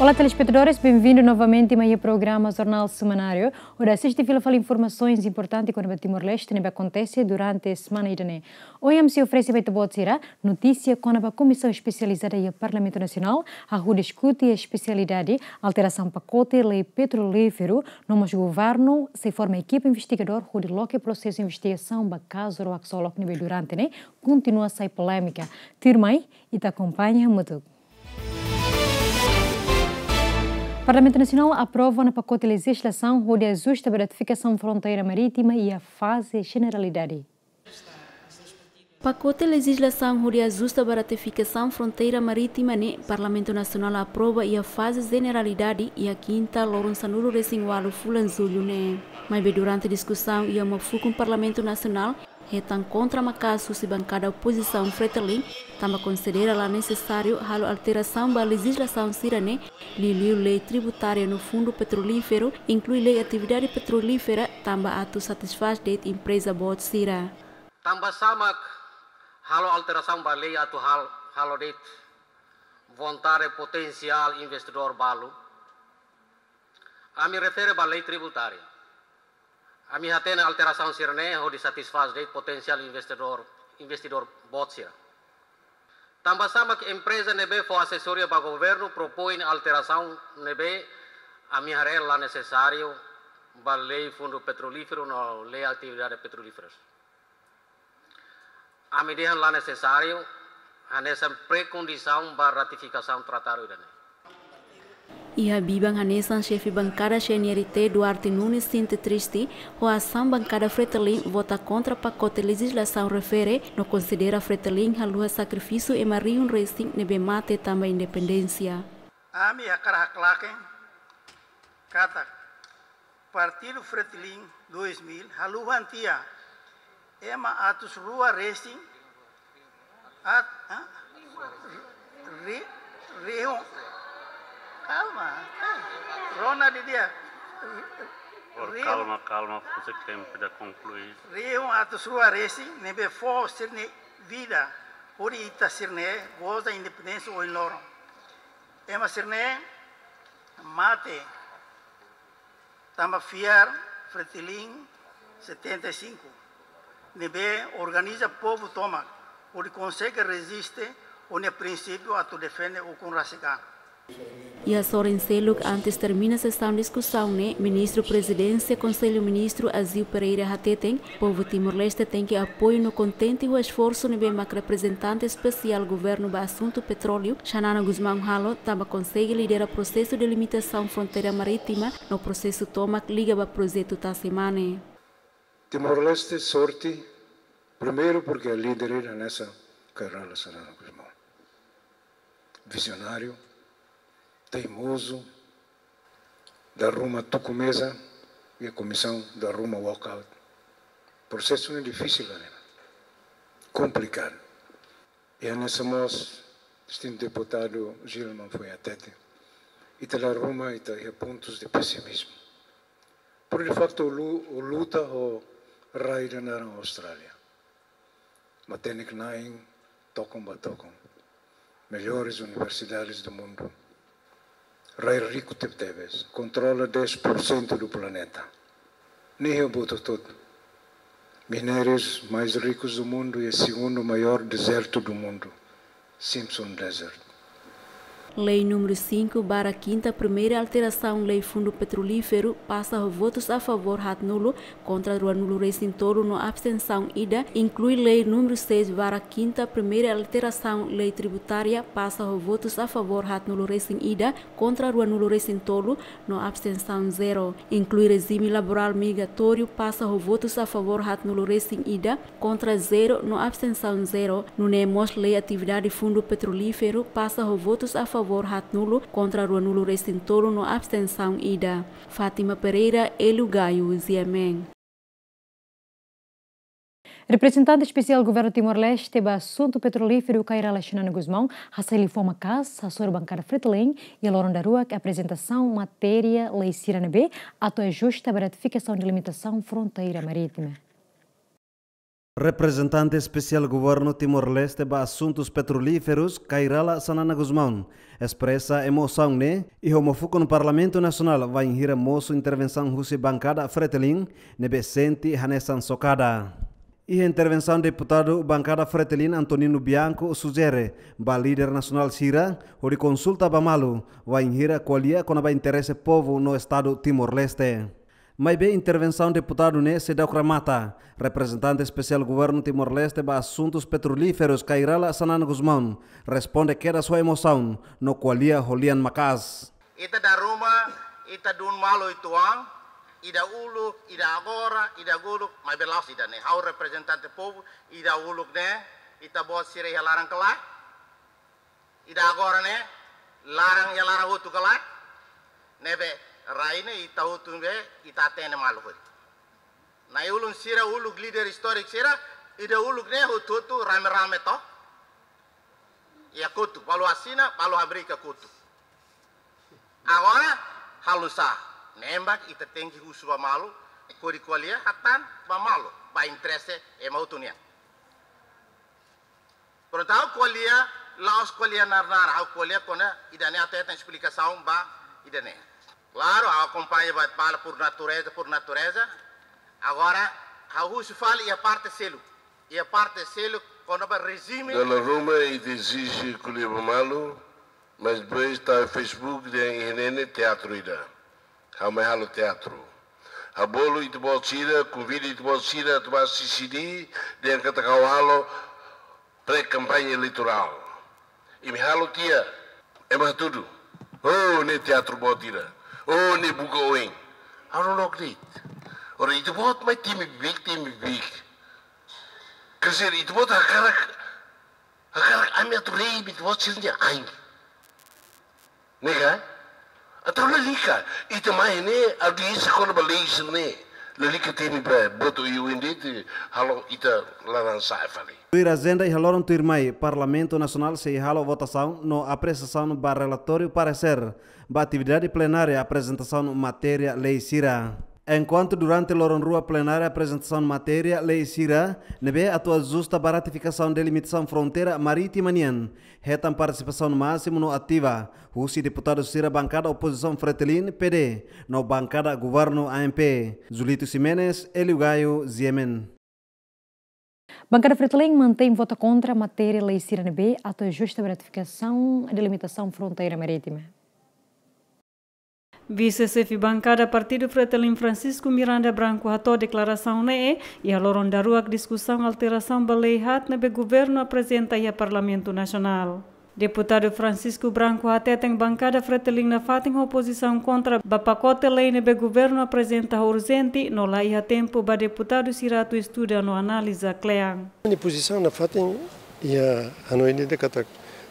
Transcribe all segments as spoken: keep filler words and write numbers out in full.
Olá, telespetadores, benvindu novamente mai iha programa Jornál Semanáriu, hodi asiste fila fali informasoens importante kona-ba Timor-Leste ne'ebé akontese durante semana ida-ne'e. Ohin ami sei oferese ba ita-boot sira notísia kona-ba Komisaun Espesializada iha Parlamentu Nasionál, hahú diskute iha espesialidade alterasaun pakote lei petrolíferu, no mós governu sei forma ekipa investigadór hodi loke prosesu investigasaun ba kazu Roak Solok ne'ebé durante ne'e kontinua sai polémika. Tuirmai, ita akompaña hamutuk. Parlamentu Nasionál aprova ona pakote lejizlasaun hodi ajusta ba ratifikasaun fronteira marítima iha faze jeneralidade. Pakote lejizlasaun hodi ajusta ba ratifikasaun fronteira marítima ne'e Parlamentu Nasionál aprova iha faze jeneralidade iha kinta loron sanulu-resin-ualu fulan Jullu ne'e. Maibé durante diskusaun iha uma fukun Parlamentu Nasionál, hetan kontra maka'as husi bankada opozisaun Fretilin, tanba konsidera la nesesáriu halo alterasaun ba lejizlasaun sira-ne'e, liuliu lei tributária no fundu petrolíferu, inklui lei atividade petrolífera, tanba atu satisfás de'it empreza boot sira. Tanba sá mak halo alterasaun ba lei atu hal-, halo de'it vontade potensiál investidór balu? Ami refere ba lei tributária. Ami hatene alterasaun sira-ne'e hodi satisfás de'it potensiál investidór, investidór boot sira. Tanba sá mak empreza ne'ebé fó asesoria ba governu propoin alterasaun ne'ebé ami haree la nesesáriu ba lei fundu petrolíferu no lei atividade petrolíferas. Ami dehan la nesesáriu, hanesan prekondisaun ba ratifikasaun tratadu ida-ne'e. Iha biban hanesan xefe bankada C N R T Duarte Nunes sente triste ho asaun bankada Fretilin vota kontra pakote lejizlasaun refere no konsidera Fretilin haluha sakrifísiu ema rihun resin ne'ebé mate tanba independénsia. Ami hakarak haklaken katak Partidu Fretilin dois mil haluhan tiha ema atus rua resin at-, hã? Ri-, rihun. Kalma. Rona didi'ak. Por rihun. Kalma, kalma, fusik tempu ida konklui. Rihun atus rua resin ne'ebé fó sira-nia vida hodi ita sira-ne'e goza independénsia ohin loron. Ema sira-ne'e mate tanba fiar Fretilin setenta e cinco, ne'ebé organiza povu tomak, hodi konsege reziste ho nia prinsípiu atu defende ukun rasik an. Iha sorin seluk antes termina sesaun diskusaun ne'e, Ministru Prezidénsia Konsellu Ministru Azeu Pereira hateten, povu Timor-Leste tenke apoiu no kontente ho esforsu ne'ebé mak reprezentante espesiál governu ba asuntu petróleu, Xanana Gusmão halo, tanba konsege lidera prosesu delimitasaun fronteira marítima no prosesu tomak liga ba projetu Tasi Mane. Timor-Leste sorte, primeiru porke líder ida hanesan Kay Rala Xanana Gusmão. Vizionáriu, teimozu, dala ruma tuku meza, iha komisaun dala ruma walkout. Prosesu ne'e difisil, ne'e komplikadu. I hanesan mós distintu deputadu Gilman foin hatete, ita dala ruma ita iha pontus de pesimizmu. Pero de facto, lu-, luta ho rai ida naran Austrália. Matenek na'in, tokon ba tokon. Melhores universidades do mundo. Rai riku tebetebes. Kontrola dez por cento do planeta. Nia iha buat hotu-hotu. Minérios mais ricos do mundo e o segundo maior deserto do mundo. Simpson Desert. Lei númeru cinco barra kinta primeira alterasaun lei fundu petrolíferu pasa ho votus a favór haatnulu, kontra ruanulu-resin-tolu no abstensaun ida, inklui lei númeru seis barra kinta primeira alterasaun lei tributária pasa ho votus a favór haatnulu-resin-ida, kontra ruanulu-resin-tolu no abstensaun zero. Inklui rejime laborál migratóriu pasa ho votus a favór haatnulu-resin-ida, kontra zero no abstensaun zero. Nune'e mós lei atividade fundu petrolíferu pasa ho votus a favór haatnulu, kontra ruanulu-resin-tolu no abstensaun ida. Fátima Pereira, Hélio Gaio, G M N. Reprezentante Espesiál Governu Timor-Leste ba Asuntu Petrolíferu, Kay Rala Xanana Gusmão, hasai liafuan maka'as hasoru bankada Fretilin iha loron daruak aprezentasaun matéria lei sira ne'ebé atu ajusta ba ratifikasaun delimitasaun fronteira marítima. Reprezentante Espesiál Governu Timor-Leste ba Asuntus Petrolíferus, Kay Rala Xanana Gusmão, espresa emosaun ne'e iha uma fukun Parlamentu Nasionál wainhira mosu intervensaun husi bankada Fretilin ne'ebé sente hanesan sokada. Iha intervensaun, deputadu bankada Fretilin Antonino Bianco sujere ba líder nasionál sira hodi konsulta ba malu wainhira ko'alia kona-ba interese povu no Estadu Timor-Leste. Maibé intervensaun deputadu ne'e seidauk remata. Reprezentante Espesiál Governu Timor-Leste ba Asuntus Petrolíferus, Kay Rala Xanana Gusmão, responde kedas ho emosaun no ko'alia ho lian maka'as. Ita dala ruma, ita dún malu uitoan, ida uluk, ida agora, ida uluk, maibé la'ós ida-ne'e. Ha'u reprezentante povu, ida uluk ne'e, ita-boot sira iha laran ka lae? Ida agora ne'e, laran iha laran hotu ka lae? Ne'ebé, rai ne'e ita hotu ne'ebé, ita hatene malu hotu. Na'i-ulun sira, uluk líder istóriku sira, ida uluk ne'e hotu-hotu rame-rame to. Iha kotuk, balu asina, balu habrika kotuk. Agora, halo sá? Ne'e mak ita tenke husu ba malu, hodi ko'alia hatán ba malu, ba interese ema hotu nian. Prontu, ha'u ko'alia, la'ós ko'alia nar-nar, ha'u ko'alia kona ida-ne'e atu hetan esplikasaun ba ida-ne'e. Klaru, ha'u akompaña ba, ba por natureza, por natureza. Agora, ha'u husu fali iha parte seluk. Iha parte seluk, kona-ba rejime. Dala ruma ita ezije ko'alia ba malu, mas depois tau Facebook dehan iha ne'e ne'e teatru ida. Ha'u mai halo teatru. Ha'u bolu ita-boot sira, konvida ita-boot sira atu ba asiste, dehan katak ha'u halo pré-kampaña eleitorál. Imi halo tiha, ema hatudu: "Oh, ne'e teatru boot ida. Oh, ne'e buka oin." Ha'u loloos de'it. Ora ita-boot mai temi beibeik, temi beibeik. Quer dizer, ita-boot hakarak, hakarak ami atu rei ba ita-boot sira-nia ain. Ne'e ka? Entaun lalika, ita mai ne'e, audiénsia kona-ba lei sira-ne'e. Lalika temi ba, boto iu indi te, halo ita laran sa'e fali. Tuir ajenda iha loron tuirmai, Parlamentu Nasionál sei halo votasaun no apresiasaun ba relatóriu paresér ba atividade plenária aprezentasaun matéria lei sira. Enkuantu durante loron rua plenária aprezentasaun matéria lei sira ne'ebé atu ajusta ba ratifikasaun delimitasaun fronteira marítima nian, hetan partisipasaun másimu no ativa husi deputadu sira bankada opozisaun Fretilin, P D, no bankada governu, A M P. Julito Ximenes, Elio Gaio, G M N. Bankada Fretilin mantein vota kontra matéria lei sira ne'ebé atu ajusta ba ratifikasaun delimitasaun fronteira marítima. Vise-xefe bankada Partidu Fretilin Francisco Miranda Branco hato'o deklarasaun ne'e iha loron daruak diskusaun alterasaun ba lei haat ne'ebé governu aprezenta iha Parlamentu Nasionál. Deputadu Francisco Branco hateten bankada Fretilin nafatin ho pozisaun kontra ba pakote lei ne'ebé governu aprezenta ho urjente no la iha tempu ba deputadu sira atu estuda no analiza kle'an. Nia pozisaun nafatin iha hanoin ida katak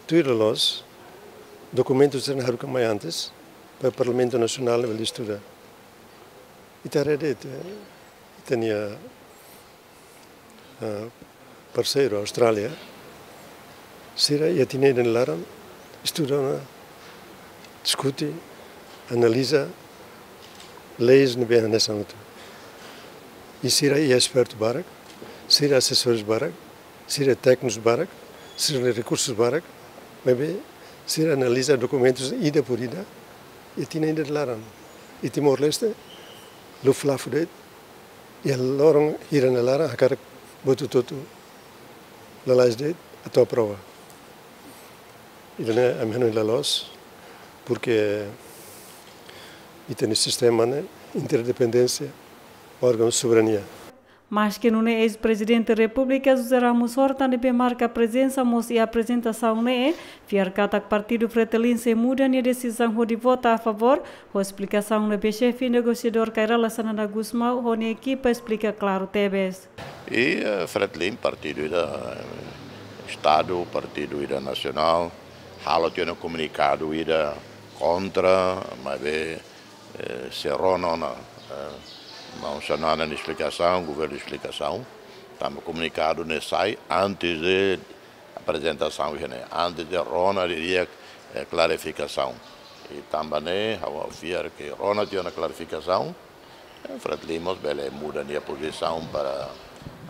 tuir loloos dokumentu sira ne'e haruka mai antes ba Parlamentu Nasionál bele estuda. Ita haree de'it, ita-nia, ah, parseiru Austrália, sira iha tinan ida nia laran estuda ona, diskute, analiza leis ne'ebé hanesan hotu. I sira iha espertu barak, sira asesores barak, sira téknikus barak, sira rekursus barak, maibé sira analiza dokumentus ida por ida, iha tinan ida nia laran. I Timor-Leste, luflafu de'it, iha loron hira nia laran hakarak buat hotu-hotu lalais de'it atu aprova. Ida-ne'e ami hanoin la loos, porque ita-nia sistema ne'e interdependénsia, órgaun soberania. Maske nune'e, eis-Prezidente Repúblika José Ramos Horta ne'ebé marka prezensa mós iha aprezentasaun ne'e, fiar katak Partidu Fretilin sei muda nia desizaun hodi vota a favór, ho esplikasaun ne'ebé xefe negosiadór Kay Rala Xanana Gusmão ho nia ekipa esplika klaru tebes. I, eh, Fretilin partidu ida, eh, Estadu, partidu ida nasionál, halo tiha ona komunikadu ida kontra, maibé, eh, sei rona ona, eh, maun Xanana nia esplikasaun, governu nia esplikasaun, tanba komunikadu ne'e sai antes de aprezentasaun iha ne'e, antes de rona didi'ak, eh, klarifikasaun. I tanba ne'e, ha'u fiar ke rona tiha ona klarifikasaun, eh, Fretilin mós bele muda nia pozisaun para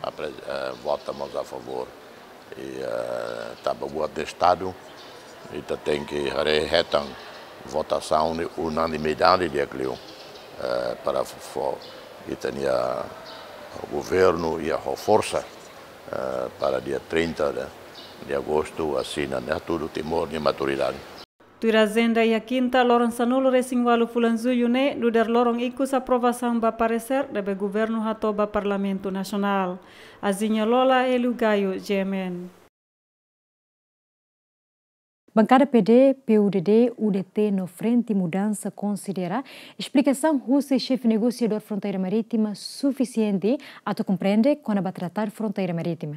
Apre-, eh, vota mós a favór. I, eh, tanba buat de Estadu, ita tenke haree hetan votasaun de unanimidade di'ak liu, eh, para fó ita-nia governu iha forsa, eh, para dia trinta de, de agostu asina ne'e hatudu Timor nia maturidade. Tuir ajenda iha kinta, loron sanulu-resin-ualu fulan Jullu ne'e, nu'udar loron ikus aprovasaun ba paresér ne'ebé governu hato'o ba Parlamentu Nasionál. Azinha Lola, Hélio Gaio, G M N. Bankada P D, P U D D, U D T no Frente Mudansa konsidera esplikasaun husi Xefe Negosiadór Fronteira Marítima sufisiente atu komprende kona-ba Tratadu Fronteira Marítima.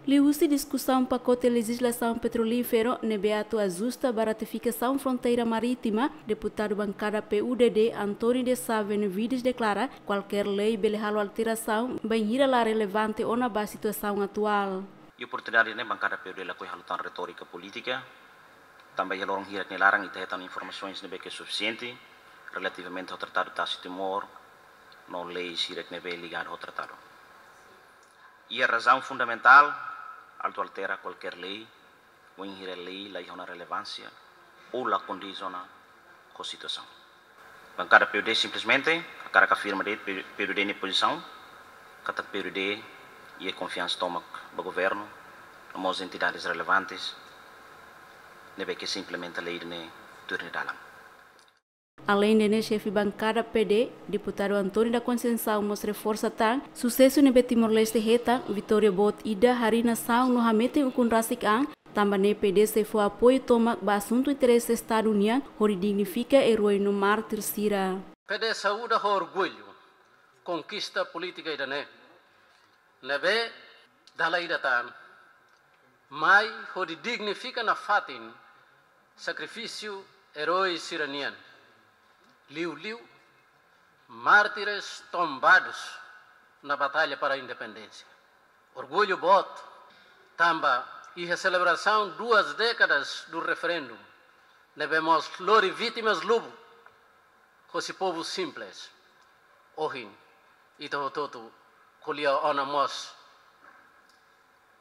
Liuhusi diskusaun pakote lejislasaun petrolíferu ne'ebé atu ajusta ba ratifikasaun fronteira marítima, deputadu bankada P U D D António de Sá Benevides deklara kualkér lei bele halo alterasaun bainhira la relevante ona ba situasaun atuál. Iha oportunidade ne'e bankada P U D D lakohi halo tan retórika polítika, tanba iha loron hirak nia laran ita hetan informasoens ne'ebé ke sufisiente relativamente ho Tratadu Tasi Timor no lei sira ne'ebé ligadu ho tratadu. Iha razaun fundamentál atu altera kualkér lei, wainhira lei la iha ona relevánsia ou la kondiz ona ho situasaun. Bankada P U D simplesmente hakarak afirma de'it P-, P U D D nia pozisaun, katak P U D D iha konfiansa tomak ba governu, no mós entidades relevantes ne'ebé ke sei implementa lei ne'e tuir nia dalan. Aleinde ne'e, xefe bankada P D, deputadu António da Conceição mós reforsa tan susesu ne'ebé Timor-Leste hetan, vitória boot ida harii nasaun no hametin ukun rasik an, tanba ne'e P D sei fó apoiu tomak ba asuntu interese Estadu nian, hodi dignifika eroi no mártir sira. P D saúda ho orgullu konkista polítika ida-ne'e, ne'ebé dala ida tan mai hodi dignifika nafatin sakrifísiu eroi sira-nian, liuliu mártires tombadus na batalha para a independência. Orgullu boot, tanba iha selebrasaun duas décadas do referendum, ne'ebé mós lori vítimas lubuk hosi povu simples, ohin ita hotu-hotu ko'alia ona mós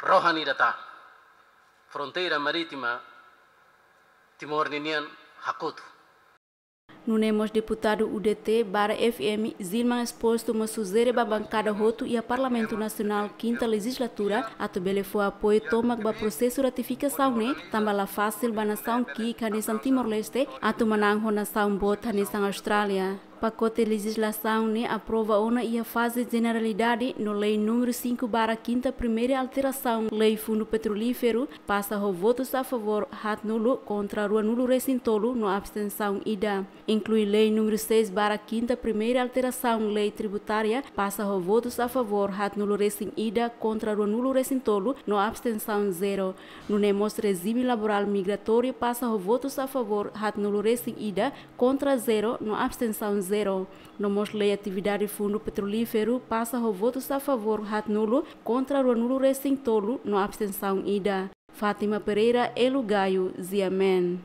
rohan ida tan, fronteira marítima Timor ninian hakotu. Nune'e mós deputadu U D T barra F M, Zilman Exposto mós sujere ba bankada hotu iha Parlamentu Nasionál kinta lejislatura atu bele fó apoiu tomak ba prosesu ratifikasaun ne'e, tanba la fasil ba nasaun ki'ik hanesan Timor-Leste atu manán ho nasaun boot hanesan Austrália. Pakote lejislasaun ne'e aprova ona iha faze jeneralidade no lei númeru cinco barra kinta primeira alterasaun lei Fundu Petrolíferu pasa ho votus a favór haatnulu kontra ruanulu-resin-tolu no abstensaun ida. Inklui lei númeru seis barra kinta primeira alterasaun lei tributária pasa ho votus a favór haatnulu-resin-ida kontra ruanulu-resin-tolu no abstensaun zero. Nune'e mós rejime laborál migratóriu pasa ho votus a favór haatnulu-resin-ida kontra zero no abstensaun zero. No mós lei atividade Fundu Petrolíferu pasa ho votus a favór haatnulu kontra ruanulu-resin-tolu no abstensaun ida. Fátima Pereira, Hélio Gaio, G M N.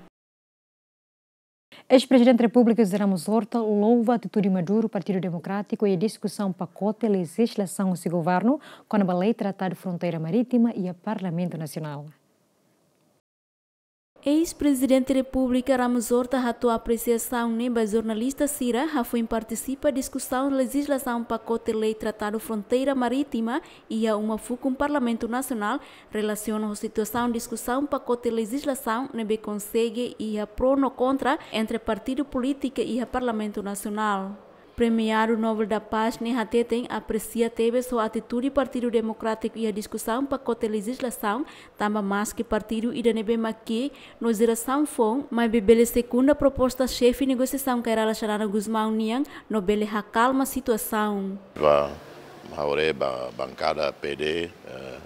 Eis-Prezidente Repúblika José Ramos Horta louva atitude maduru Partidu Demokrátiku iha diskusaun pakote lejislasaun husi governu kona-ba lei Tratadu Fronteira Marítima iha Parlamentu Nasionál. Eis-Prezidente Repúblika Ramos Horta hato'o apresiasaun ne'e ba jornalista sira hafoin partisipa diskusaun lejislasaun pakote lei Tratadu Fronteira Marítima iha uma fukun Parlamentu Nasionál, relasiona ho situasaun diskusaun pakote lejislasaun ne'ebé konsege iha pró no kontra entre partidu polítika iha Parlamentu Nasionál. Premiadu Nobel da Paz ne'e hateten apresia tebes ho atitude Partidu Demokrátiku iha diskusaun pakote lejislasaun, tanba maski partidu ida ne'ebé mak ki'ik no jerasaun foun, maibé bele sekunda proposta xefe negosiasaun Kay Rala Xanana Gusmão nian no bele hakalma situasaun. Ba, ha'u haree ba bankada P D, eh,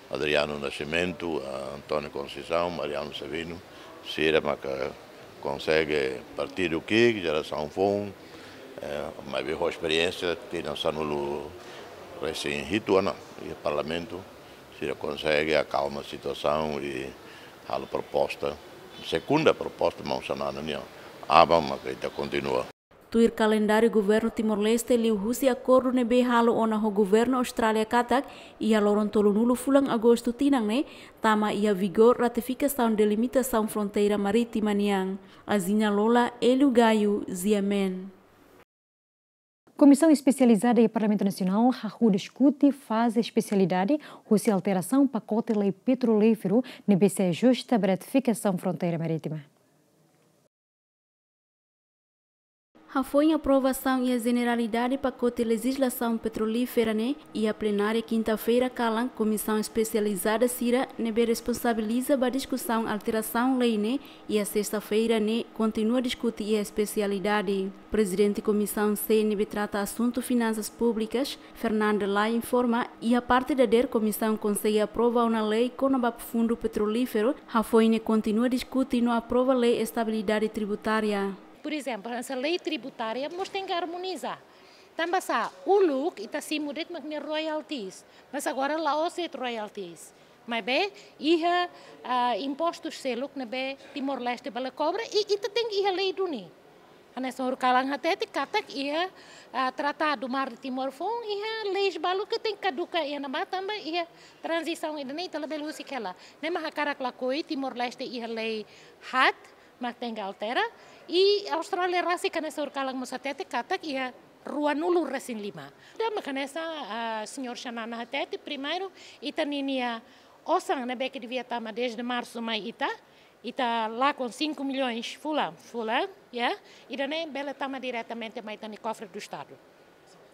Adriano Nascimento, eh, António Conceição, Mariano Sabino, sira maka konsege partidu ki'ik, jerasaun foun, eh, maibé ho esperiénsia tinan sanulu-resin-hitu ona iha Parlamentu, sira konsege akalma situasaun i halo proposta, sekunda proposta maun Xanana nian, aban maka ita kontinua. Tuir kalendáriu governu Timor-Leste, liuhusi akordu ne'ebé halo ona ho governu Austrália katak, iha loron tolunulu fulan Agostu tinan ne'e, tama iha vigór ratifikasaun delimitasaun fronteira marítima nian. Azina Lola, Hélio Gaio, G M N. Komisaun espesializada iha Parlamentu Nasionál hahú diskute faze espesialidade husi alterasaun pakote lei petrolíferu ne'ebé sei ajusta ba ratifikasaun fronteira marítima. Hafoin aprovasaun iha jeneralidade pakote lejizlasaun petrolífera ne'e iha plenária kinta-feira kalan, komisaun espesializada sira ne'ebé responsabiliza ba diskusaun alterasaun lei ne'e iha sesta-feira ne'e kontinua diskute iha espesialidade. Prezidente Komisaun C ne'ebé trata asuntu finansas públikas, Fernanda Lay, informa, iha parte dadeer komisaun konsege aprova ona lei kona-ba fundu petrolíferu, hafoin ne'e kontinua diskute no aprova lei estabilidade tributária. Por exemplo, hanesan lei tributária mós tenke armoniza. Tanba sá, uluk ita simu de'it mak nia royalties, mas agora la'ós de'it royalties. Maibé iha, ah, impostus seluk ne'ebé Timor-Leste bele kobra, i ita tenke iha lei duni. Hanesan ohin kalan hatete katak iha, ah, Tratadu Mar de Timor foun, iha leis balu ke tenke kaduka iha ne'ebá tanba iha tranzisaun ida-ne'e ita labele husik hela. Ne'e mak hakarak lakohi Timor-Leste iha lei haat, mak tenke altera. I Austrália rasik hanesan ohin kalan mós hatete katak iha ruanulu resin lima. Ida mak hanesan, ah, señór Xanana hatete, primeiru, ita ninia osan ne'ebé ke devia tama desde marsu mai ita, ita lakon cinco milhões fulan, fulan, ya, ida-ne'e bele tama diretamente mai ita-nia kofre do Estado.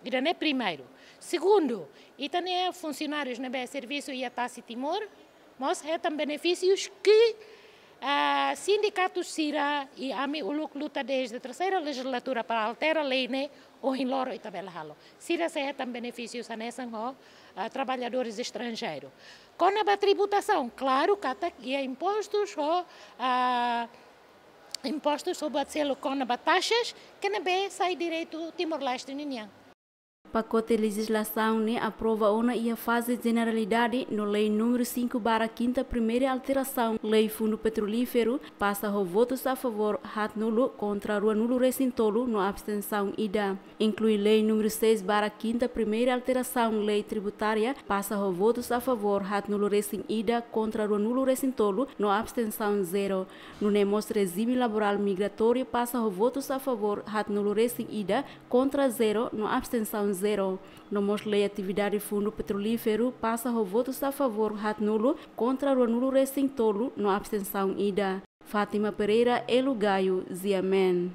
Ida-ne'e primeiru. Segundu, ita-nia funsionárius ne'ebé servisu iha Tasi Timor, mós hetan benefísius ke, ah, sindikatu sira i ami uluk luta desde terseira lejizlatura para altera lei ne'e, ohin loron ita bele halo. Sira sei hetan benefísius hanesan ho, ah, traballadores estranjeiru. Kona-ba tributasaun, klaru katak iha impostus ho, ah, impostus ho buat seluk kona-ba taxas, ke ne'ebé sai direitu Timor-Leste ninian. Pakote lejizlasaun ne'e aprova ona iha faze jeneralidade no lei númeru cinco barra quinta primeira alterasaun lei fundu petrolíferu pasa ho votus a favór haatnulu kontra ruanulu resin tolu no abstensaun ida. Inklui lei númeru seis barra quinta primeira alterasaun lei tributária pasa ho votus a favór haatnulu resin ida kontra ruanulu resin tolu no abstensaun zero. Nune'e mós rejime laborál migratóriu pasa ho votus a favór haatnulu resin ida kontra zero no abstensaun zero. No mós lei atividade fundu petrolíferu pasa ho votus a favór haatnulu kontra ruanulu resin tolu no abstensaun ida. Fátima Pereira, Hélio Gaio, G M N.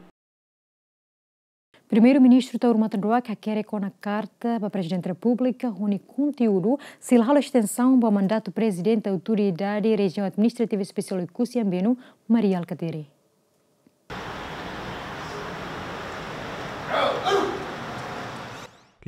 Primeiru-Ministru Taur Matan Ruak hakerek ona karta ba Prezidente Repúblika ho nia konteúdu sei la halo estensaun ba mandatu Prezidente Autoridade Rejiaun Administrativa Espesiál Oekusi Ambeno, Mari Alkatiri.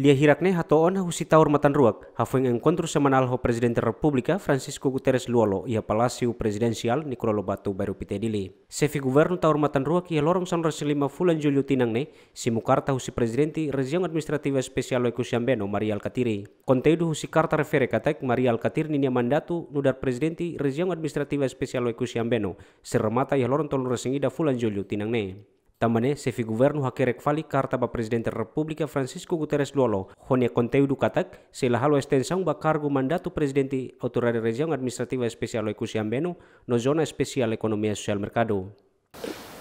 Lia hirak ne'e hato'o ona husi Taur Matan Ruak, hafoin enkontru semanál ho Prezidente Repúblika Francisco Guterres Lú-Olo iha Palásiu Prezidensiál Nicolau Lobato, Bairru Pité, Dili. Xefe Governu Taur Matan Ruak iha loron sanulu resin lima fulan Jullu tinan ne'e simu karta husi Prezidente Rejiaun Administrativa Espesiál Oekusi Ambeno, Mari Alkatiri. Konteúdu husi karta refere katak Mari Alkatiri ninia mandatu nu'udar Prezidente Rejiaun Administrativa Espesiál Oekusi Ambeno sei remata iha loron tolunulu resin ida fulan Jullu tinan ne'e. Tanba ne'e, Xefe Governu hakerek fali karta ba Prezidente Repúblika Francisco Guterres Lú-Olo, ho nia konteúdu katak sei la halo estensaun ba kargu mandatu Prezidente Autoridade Rejiaun Administrativa Espesiál Oekusi Ambeno no Zona Espesiál Ekonomia Sosiál Merkadu.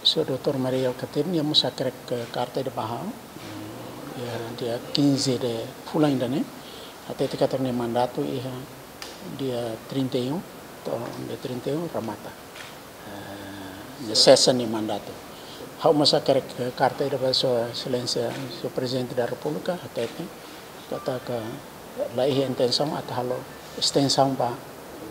Señór doutór Mari Alkatiri nia mós hakerek karta ida ba ha'u, iha dia quinze de fulan ida-ne'e, hatete katak nia mandatu iha dia trinta e um, to'o dia trinta e um remata. Eh, nia sesa nia mandatu. Ha'u mós hakerek karta ida ba Sua Exelénsia, Señór Prezidente da Repúblika, hatete katak la iha intensaun atu halo estensaun ba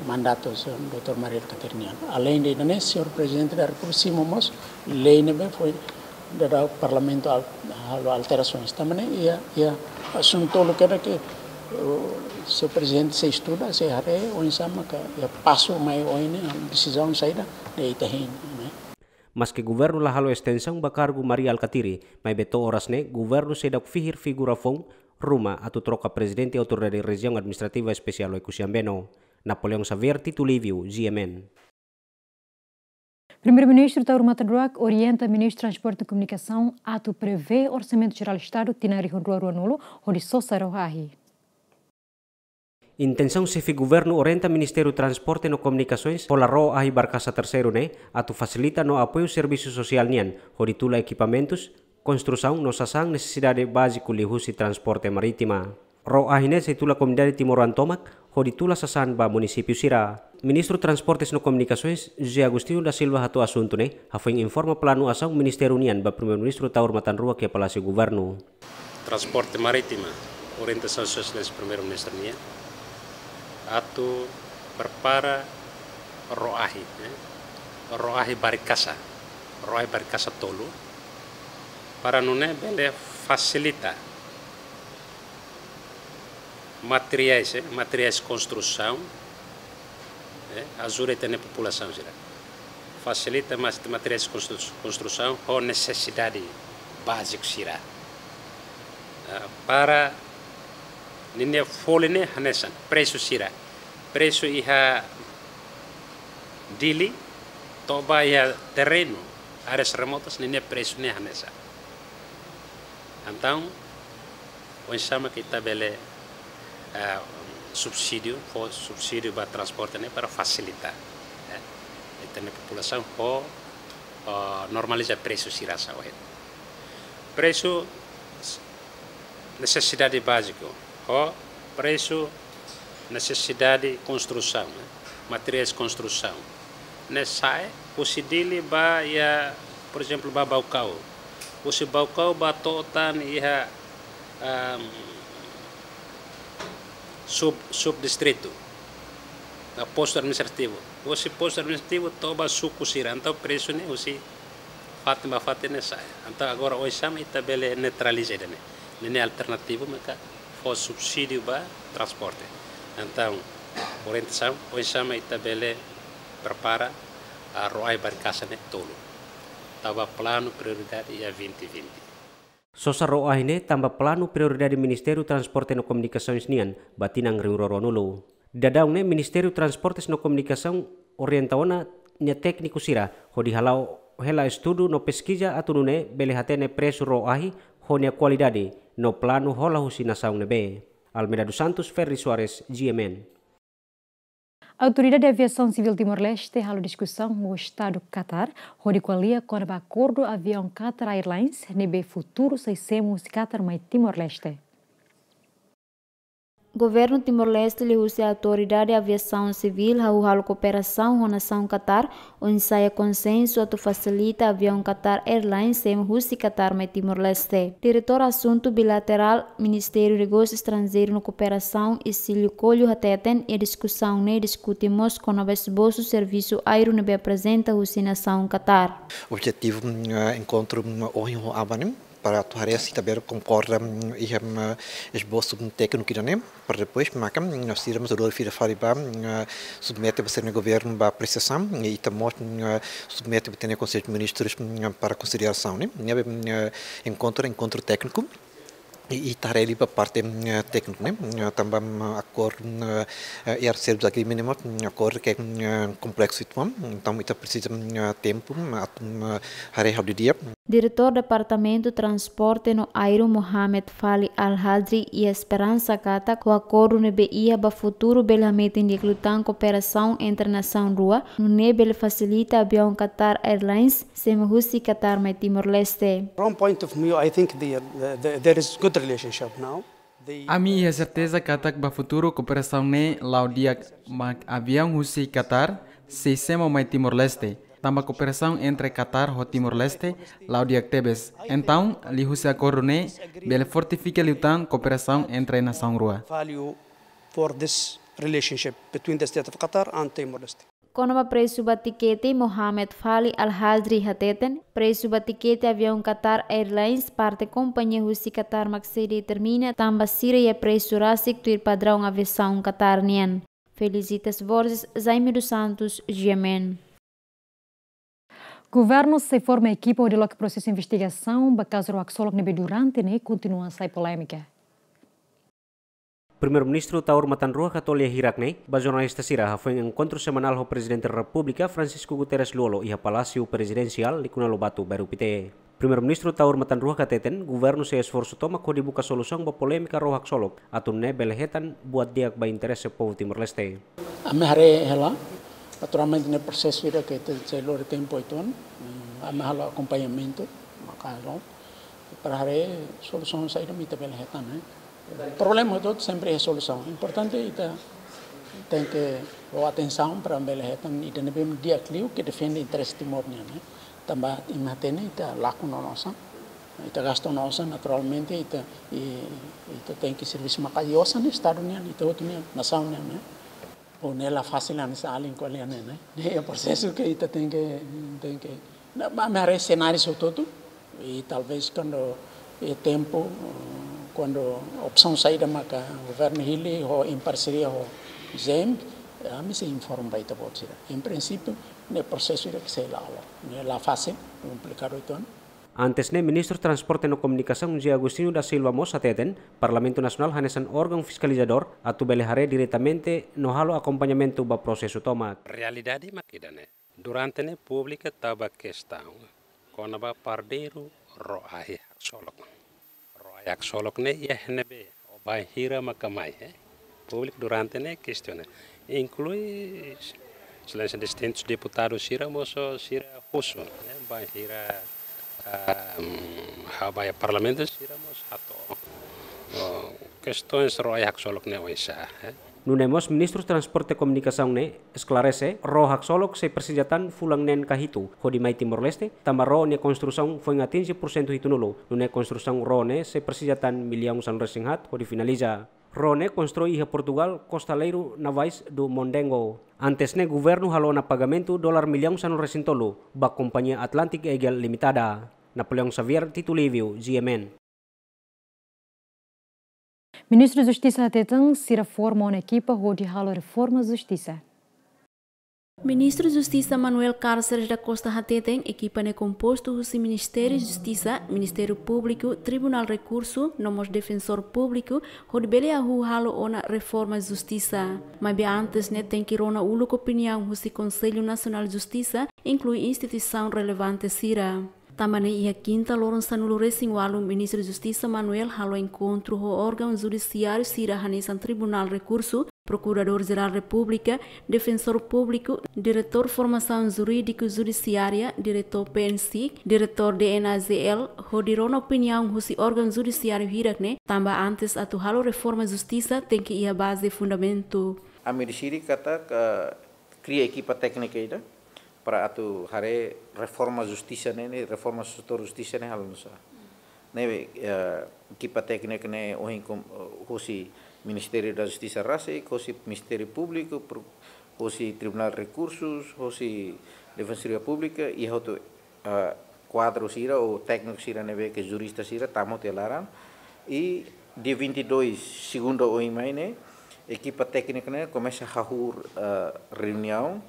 mandatu Señór doutór Mari Alkatiri nian. Aleinde ida-ne'e, Señór Prezidente da Repúblika simu mós lei ne'ebé foin daudaun Parlamentu al-, halo alterasaun. Tanba ne'e iha, iha asuntu tolu kedas ke, uh, Señór Prezidente sei estuda, sei haree oinsá maka iha pasu mai oin ne'e, desizaun saida, ne'e ita hein, ne'e. Maske Governu la halo estensaun ba kargu Mari Alkatiri, maibé to'o oras ne'e Governu seidauk fihir figura foun ruma atu troka Prezidente Autoridade Rejiaun Administrativa Espesiál Oekusi Ambeno. Napoleão Xavier, Tito Livio, G M N. Primeiru-Ministru Taur Matan Ruak orienta Ministru Transporte no Komunikasaun atu prevee Orsamentu Jerál Estadu tinan rihun rua ruanulu hodi sosa ró-ahi. Intensaun Xefe Governu orienta Ministériu Transporte no Komunikasoens hola ró-ahi Barkasa Terseiru ne'e atu fasilita no apoiu servisu sosiál nian hodi tula ekipamentus, konstrusaun no sasán nesesidade báziku liuhusi transporte marítima. Ró-ahi ne'e sei tula komunidade timoroan tomak hodi tula sasán ba munisípiu sira. Ministru Transportes no Komunikasoens, José Agostinho da Silva hato'o asuntu ne'e hafoin informa planu asaun ministériu nian ba Primeiru-Ministru Taur Matan Ruak iha Palásiu Governu. Transporte Marítima, orientasaun Sua Exelénsia Primeiru-Ministru nian atu prepara ró-ahi, eh, ró-ahi Barkasa, ró-ahi Barkasa tolu, para nune'e bele fasilita materiais, eh, materiais konstrusaun, eh, ajuda ita-nia populasaun sira. Fasilita mas materiais konstru-, konstrusaun ho nesesidade báziku sira. Ah, para ninia folin ne'e hanesan, presu sira. Presu iha Dili, to'o ba iha terrenu, áreas remotas, ninia presu ne'e hanesan. Entaun, oinsá mak ita bele, eh, subsídiu, fó subsídiu ba transporte ne'e para fasilita, eh, ita-nia populasaun ho, eh, normaliza presu sira sa'e. Presu nesesidade báziku, ho presu nesesidade konstrusaun, eh, materiais konstrusaun. Ne'e sa'e, husi Dili ba iha, por ezemplu, ba Baucau. Husi Baucau ba to'o tan iha, ahm, sub, subdistritu, ba postu administrativu. Husi postu administrativu to'o ba suku sira. Entaun presu ne'e husi fatin ba fatin ne'e sa'e. Entaun agora oinsá mak ita bele neutraliza ida-ne'e. Ne'e alternativu maka fó subsídiu ba transporte. Entaun orientasaun oinsá mak ita bele prepara, ah, ró-ahi Barkasa ne'e tolu. Tau ba planu prioridade iha vinte vinte. Sosa ró-ahi ne'e tanba planu prioridade Ministériu Transporte no Komunikasoens nian ba tinan rihun rua ruanulu. Daudaun ne'e Ministériu Transportes no Komunikasaun orienta ona nia tékniku sira hodi hala'o hela estudu no peskiza atu nune'e bele hatene presu ró-ahi ho nia kualidade no planu hola husi nasaun ne'ebé. Almeida dos Santos, Ferri Soares, G M N. Autoridade Aviasaun Sivíl Timor-Leste halo diskusaun ho Estadu Qatar hodi ko'alia kona-ba akordu aviaun Qatar Airlines ne'ebé futuru sei semo husi Qatar mai Timor-Leste. Governu Timor-Leste liuhusi Autoridade Aviasaun Sivíl hahú halo kooperasaun ho nasaun Qatar, oinsá iha konsensu atu fasilita aviaun Qatar Airlines semo husi Qatar mai Timor-Leste. Diretór Asuntu Bilaterál Ministériu Negósiu Estranjeiru no Kooperasaun, Isílio Coelho, hateten iha diskusaun ne'e diskute mós kona-ba esbosu servisu aéreu ne'ebé aprezenta husi nasaun Qatar. Objetivu, mm, eh, enkontru, mm, ohin ho aban ne'e para atu haree se ita bele konkorda, mm, iha, mm, esbosu, mm, tékniku ida-ne'e, para depois maka, mm, sira mós dodori fila fali ba, mm, submete ba sira-nia governu ba apresiasaun, i ita mós, mm, submete ba ita-nia Konsellu de Ministrus, mm, para konsiderasaun, ne'e. Ne'ebé, mm, enkontru, enkontru tékniku, i, i ita haree liu ba parte, mm, tékniku, ne'e. Mm, tanba, mm, akordu, mm, eh, Air Service Agreement, mm, akordu ke, mm, kompleksu uitoan, entaun ita presiza, mm, tempu, mm, atu, mm, haree ha'u didi'ak. Diretór Departamentu Transporte no Aéreu, Mohamed Fali Al Hadri, iha esperansa katak ho akordu ne'ebé iha ba futuru bele hametin di'ak liután kooperasaun entre nasaun rua, nune'e bele fasilita aviaun Qatar Airlines semo husi Qatar mai Timor-Leste. From point of view, I think the, the, the, there is good relationship now. Ami iha serteza katak ba futuru kooperasaun ne'e la'o di'ak, mak aviaun husi Qatar sei semo mai Timor-Leste, tanba kooperasaun entre Qatar ho Timor-Leste la'o di'ak tebes. Entaun, liuhusi akordu ne'e bele fortifika liután kooperasaun entre nasaun rua. Value for this relationship between the state of Qatar and Timor-Leste. Kona-ba presu ba tikete, Mohamed Fali Al Hadri hateten, presu ba tikete aviaun Qatar Airlines parte kompañia husi Qatar mak sei determina, tanba sira iha presu rasik tuir padraun aviasaun Qatar nian. Felicitas Borges, Jaime dos Santos, G M N. Governu sei forma ekipa hodi loke prosesu investigasaun ba kazu rua ksolok ne'ebé durante ne'e kontinua sai polémika. Primeiru-Ministru Taur Matan Ruak hato'o lia hirak ne'e ba jornalista sira hafoin enkontru semanál ho Prezidente Repúblika Francisco Guterres Lú-Olo iha Palásiu Prezidensiál Likuna Lobato, Bairru Pité. Primeiru-Ministru Taur Matan Ruak hateten, governu sei esforsu tomak hodi buka solusaun ba polémika ró haksolok, atu nune'e bele hetan buat di'ak ba interese povu Timor-Leste. Ami haree hela, naturalmente ne'e prosesu ida ke ita sei lori tempu uitoan, mm, ami halo akompañamentu, maka halo, para haree solusaun saida mak ita bele hetan, eh. Problema hotu sempre iha solusaun. Importante ita tenke fó atensaun para bele hetan ida ne'ebé di'ak liu ke defende interese Timor nian, eh. Tanba imi hatene ita lakon ona osan, ita gasta ona osan, naturalmente ita, i, ita tenke servisu maka'as osan ne'e Estadu nian, ita hotu nian, nasaun nian, eh. Ou ne'e la fasil hanesan alin ko'alia ne'e, ne'e. Ne'e prosesu ke ita tenke, tenke. Ne'e, ami haree senáriu hotu-hotu, i talvés kuandu, eh, tempu, eh, kuandu opsaun saida maka governu hili ho em parseria ho G M, eh, ami sei informa ba ita-boot sira. Em prinsípiu, ne'e prosesu ida ke sei la'o. Ne'e la fasil, komplikadu uitoan. Antes ne'e, Ministru Transporte no Komunikasaun José Agostinho da Silva mós hateten, Parlamentu Nasionál hanesan órgaun fiskalizadór atu bele haree diretamente no halo akompañamentu ba prosesu tomak. Realidade mak ida-ne'e. Durante ne'e públiku tau ba kestaun kona-ba pardeiru ró-ai haksolok. Ró-ai haksolok ne'e iha ne'ebé, ou bainhira maka mai, eh? Públiku durante ne'e kestiona. Inklui Exelénsia distintus deputadu sira mós sira husu, eh? Bainhira, ah, mm, ha'u ba iha Parlamentu sira mós hato'o. Oh, kestaun ró-ai haksolok ne'e oinsá, eh? Nune'e mós Ministru Transporte Komunikasaun ne'e esklarese, ró haksolok sei presiza tan fulan neen ka hitu hodi mai Timor-Leste, tanba ró nia konstrusaun foin atinje pursentu hitunulu, nune'e konstrusaun ró ne'e sei presiza tan millaun sanulu-resin-haat hodi finaliza. Ró ne'e konstrui iha Portugal, Costaleiros Navais do Mondego. Antes ne'e governu halo ona pagamentu dolar millaun sanulu-resin-tolu ba kompañia Atlantic Eagle Limitada. Napoleão Xavier, Tito Livio, G M N. Ministru Justisa hateten sira forma ona ekipa hodi halo reforma justisa. Ministru Justisa Manuel Cárceres da Costa hateten ekipa ne'e kompostu husi Ministériu Justisa, Ministériu Públiku, Tribunál Rekursu, no mós Defensór Públiku, hodi bele hahú halo ona reforma justisa. Maibé antes ne'e tenke rona uluk opiniaun husi Konsellu Nasionál Justisa, inklui instituisaun relevante sira. Tanba ne'e iha kinta loron sanulu-resin-ualu Ministru Justisa Manuel halo enkontru ho órgaun judisiáriu sira hanesan Tribunál Rekursu, Prokuradór Jerál Repúblika, Defensór Públiku, Diretór Formasaun Jurídiku Judisiária, Diretór PNSIC, Diretór DNAJL, hodi rona opiniaun husi órgaun judisiáriu hirak ne'e, tanba antes atu halo reforma justisa tenke iha baze fundamentu. Ami deside katak, eh, kria ekipa téknika ida para atu haree reforma justisa ne'e, ne'e reforma setór justisa ne'e halo nu'usá. Ne'ebé, eh, ekipa téknika ne'e ohin kom-, eh, hosi Ministériu da Justisa rasik, hosi Ministériu Públiku, pro-, hosi Tribunál Rekursus, hosi Defensoria Públika, iha hotu, eh, kuadru sira ou tékniku sira ne'ebé ke jurista sira tama tiha laran. I dia vinte e dois, segunda oin mai ne'e, ekipa téknika ne'e komesa hahú, eh, reuniaun,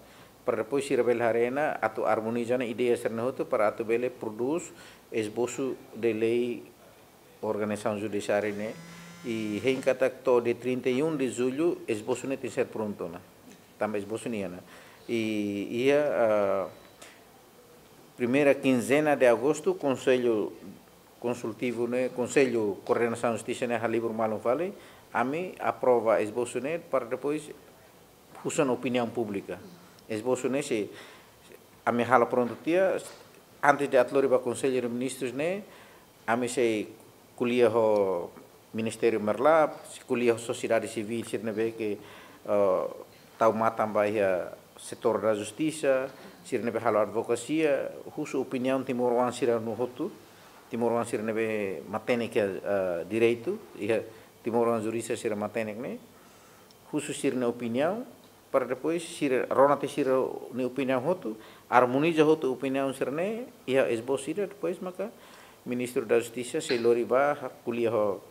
para depois sira bele haree ona atu armoniza ona ideia sira-ne'e hotu para atu bele prodús esbosu de lei organizasaun judisiária ne'e. I hein katak to'o dia trinta e um de julho esbosu ne'e tenke ser prontu ona. Tanba esbosu ne'e iha ona. I iha, ah, primeira quinzena de agosto, Konsellu Konsultivu ne'e, Konsellu Koordenasaun Justisa ne'e halibur malu fali, ami aprova esbosu ne'e para depois husu ona opiniaun públika. Esbosu ne'e sei ami halo prontu tiha, antes de atu lori ba Konsellu de Ministrus ne'e, ami sei ko'alia ho Ministériu Merlap, sei ko'alia ho sosiedade sivíl sira ne'ebé ke, eh, tau matan ba iha setór da justisa, sira ne'ebé halo advokasia, husu opiniaun timoroan sira-ne'e hotu, timoroan sira ne'ebé matenek iha, eh, direitu, iha timoroan jurista sira matenek ne'e, husu sira-nia opiniaun, para depois sira rona tiha sira-nia opiniaun hotu, armoniza hotu opiniaun sira-ne'e, iha esbosu ida, depois maka Ministru da Justisa sei lori ba, ko'alia ho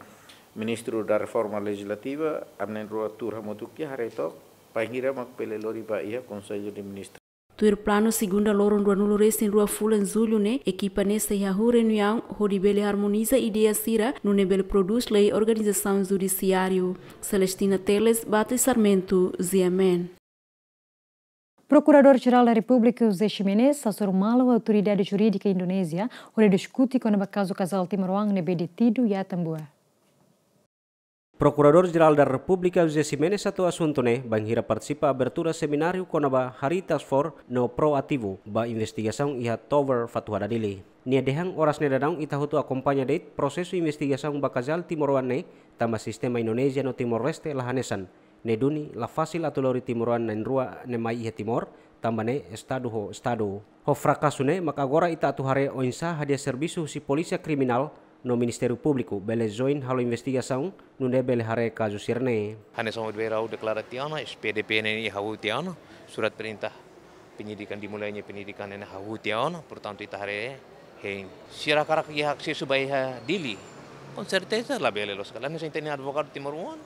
Ministru da Reforma Lejislativa, ami na'in-rua tuur hamutuk iha, haree took bainhira mak bele lori ba iha Konsellu de Ministrus. Tuir planu, segunda loron ruanulu resin rua fulan Jullu ne'e, ekipa ne'e sei hahú reuniaun hodi bele armoniza ideia sira nune'e bele prodús lei organizasaun judisiáriu. Celestina Teles, Beatriz Sarmento, G M N. Prokuradór-Jerál da Repúblika José Ximenes hasoru malu Autoridade Jurídika Indonézia hodi diskute kona-ba kazu kazál timoroan ne'ebé detidu iha Atambua. Prokuradór-Jerál da Repúblika José Ximenes hato'o asuntu ne'e bainhira partisipa abertura semináriu kona-ba Harii Task Force no proativu ba investigasaun iha Tower Fatuhada, Dili. Nia dehan oras ne'e daudaun ita hotu akompaña de'it prosesu investigasaun ba kazál timoroan ne'e, tanba sistema Indonézia no Timor-Leste la hanesan. Ne'e duni la fasil atu lori timoroan na'in-rua ne'e mai iha Timor, tanba ne'e estadu ho estadu. Ho frakasu ne'e mak agora ita atu haree oinsá hadi'a servisu husi Polísia Kriminál no Ministériu Públiku bele join halo investigasaun nune'e bele haree kazu sira-ne'e. Hanesan ohin ha'u deklara tiha ona, S P D P ne'e ha'u tiha ona, surat perintah penyidikan, dimulainya penyidikan ne'e ha'u tiha ona, portantu ita haree hein. Sira hakarak iha asesu ba iha Dili, com certeza labele loos ka lae. Hanesan ita-nia advogadu timoroan,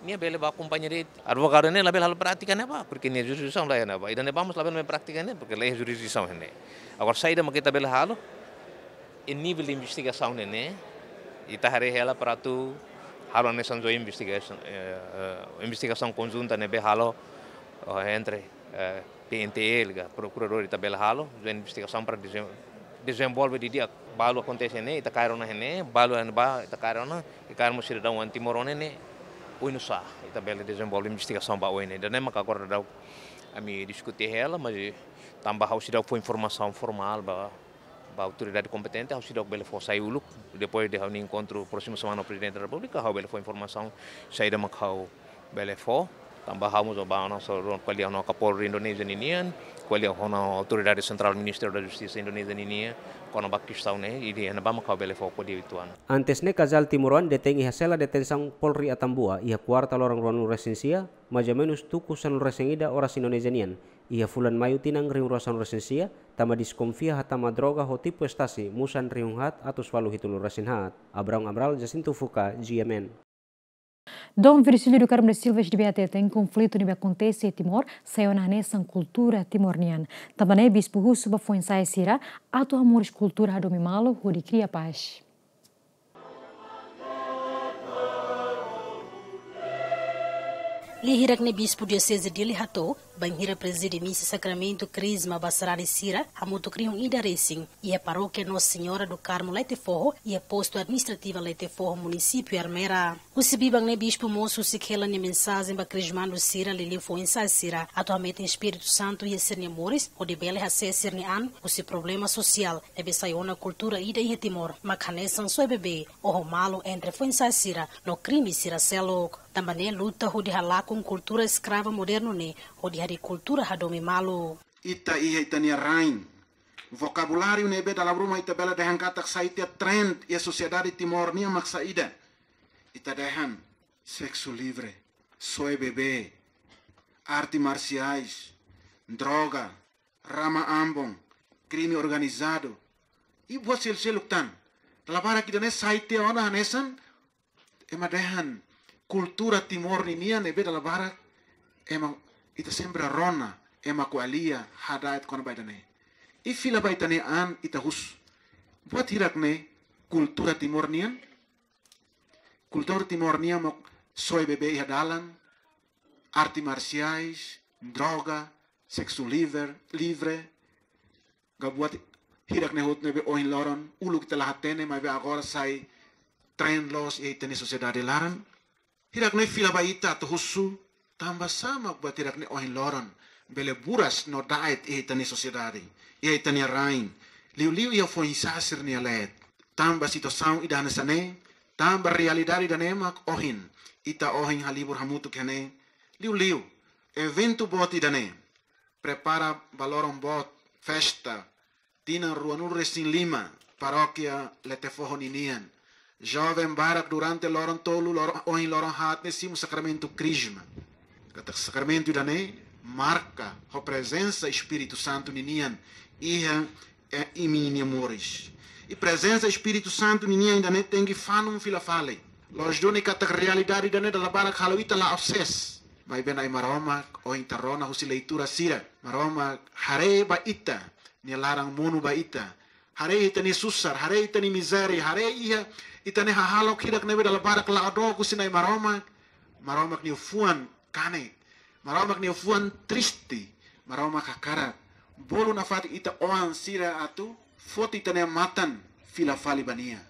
nia bele bá akompaña de'it. Advogadu ne'e labele halo prátika ne'ebá, porque nia jurisdisaun la iha ne'ebá. Ida-ne'ebá mós labele mai prátika ne'e, porque la iha jurisdisaun ne'e. Agora saida mak ita bele halo, iha nivel de investigasaun ne'e, ita haree hela para atu halo hanesan joint investigation, eh, eh, investigasaun konjunta ne'ebé halo, oh, entre, eh, P N T L ka, prokuradór ita bele halo joint investigasaun para desen-, dezenvolve didi'ak. Balu akontese ne'e, ita kaer ona ne'e, balu ne'ebá ita kaer ona, i kaer mós sidadaun timoroan ne'e, oinsá ita bele dezenvolve investigasaun ba oin ne'e. Ida-ne'e mak agora daudaun ami diskute hela, mas tanba ha'u seidauk fó informasaun formál ba, ba autoridade kompetente, ha'u seidauk bele fó sai uluk. Depois de ha'u-nia enkontru prósimu semana ho Prezidente da Repúblika, ha'u bele fó informasaun saida mak ha'u bele fó. Tanba ha'u mós bá ona hasoru ko'alia ho Kapolri Indonézia ninian, ko'alia ho Autoridade Sentrál Ministériu da Justisa Indonézia ninian, kona-ba kestaun ne'e, i ida-ne'ebá mak ha'u bele fó ko'alia uitoan. Antes ne'e kazál timoroan detein iha sela detensaun Polri Atambua iha kuarta loron ruanulu resin sia, mais ou menus tuku sanulu resin ida oras Indonézia nian, iha fulan Maiu tinan rihun rua sanulu resin sia, tanba deskonfia hatama droga ho tipu estasi musan rihun haat atus ualu hitunulu resin haat. Abraão Amaral, Jacinto Fuca, G M N. Dom Virgílio do Carmo da Silva S D B hateten konflitu ne'ebé akontese iha Timor sai ona hanesan kultura Timor nian. Tanba ne'e Bispu husu ba foin-sa'e sira atu hamoris kultura hadomi malu hodi kria pás. Lia hirak ne'e Bispu Dioseze Dili hato'o bainhira prezide misa sakramentu Krisma ba sarani sira hamutuk rihun ida resin iha Parókia Nossa Senhora do Carmo Letefoho, iha postu administrativa Letefoho, munisípiu Ermera. Husi biban ne'e Bispu mós husik hela nia mensajen ba krismandu sira, liuliu foin-sa'e sira, atu hametin Espíritu Santu iha sira-nia moris, hodi bele hasees sira-nia an husi problema sosiál ne'ebé sai ona kultura ida iha Timor, mak hanesan soe bebé, oho malu entre foin-sa'e sira no krime sira seluk. Tanba ne'e luta hodi halakon kultura eskrava modernu ne'e, hodi harii kultura hadomi malu. Ita iha ita-nia rain. Vokabuláriu ne'ebé dala ruma ita bele dehan katak sai tiha trend iha sosiedade Timor nian mak saida. Ita dehan seksu livre, soe bebé, arte marsiais, droga, rama ambon, krime organizadu, i buat seluk-seluk tan. Dala barak ida-ne'e sai tiha ona hanesan ema dehan kultura Timor ninian ne'ebé dala barak ema, ita sempre rona ema ko'alia, hada'et kona-ba ida-ne'e. I fila ba ita-nia an ita husu. Buat hirak-ne'e kultura Timor nian? Kultura Timor nian mak soe bebé iha dalan, arte marsiais, droga, seksu livre, livre, ka buat hirak-ne'e hotu ne'ebé ohin loron uluk ita la hatene, maibé agora sai trend loos iha ita-nia sosiedade laran. Hirak-ne'e fila ba ita atu husu, tanbasá mak buat hirak-ne'e ohin loron bele buras no da'et iha ita-nia sosiedade, iha ita-nia rain, liuliu iha foin-sa'e sira-nia leet. Tanba situasaun ida hanesan ne'e, tanba realidade ida-ne'e mak ohin ita ohin halibur hamutuk iha ne'e, liuliu eventu boot ida-ne'e prepara ba loron boot, festa tinan ruanulu resin lima, Parókia Letefoho ninian. Joven barak durante loron tolu, loron, ohin loron haat ne'e simu sakramentu Krisma. Katak sakramentu ida-ne'e marka ho prezensa Espíritu Santu ninian iha, eh, imi-nia moris. I prezensa Espíritu Santu ninian ida-ne'e tenke fanun fila fali. Loos duni katak realidade ida-ne'e dala barak halo ita la'o sees. Maibé Na'i Maromak, ohin ita rona husi leitura sira, Maromak haree ba ita-nia laran monu ba ita. Haree ita-nia susar, haree ita-nia mizéria, haree iha ita-nia hahalok hirak ne'ebé dala barak la'o dook husi Na'i Maromak. Maromak nia fuan kanek, Maromak nia fuan triste, Maromak hakarak bolu nafatin ita-nia oan sira atu foti ita-nia matan fila fali ba Nia.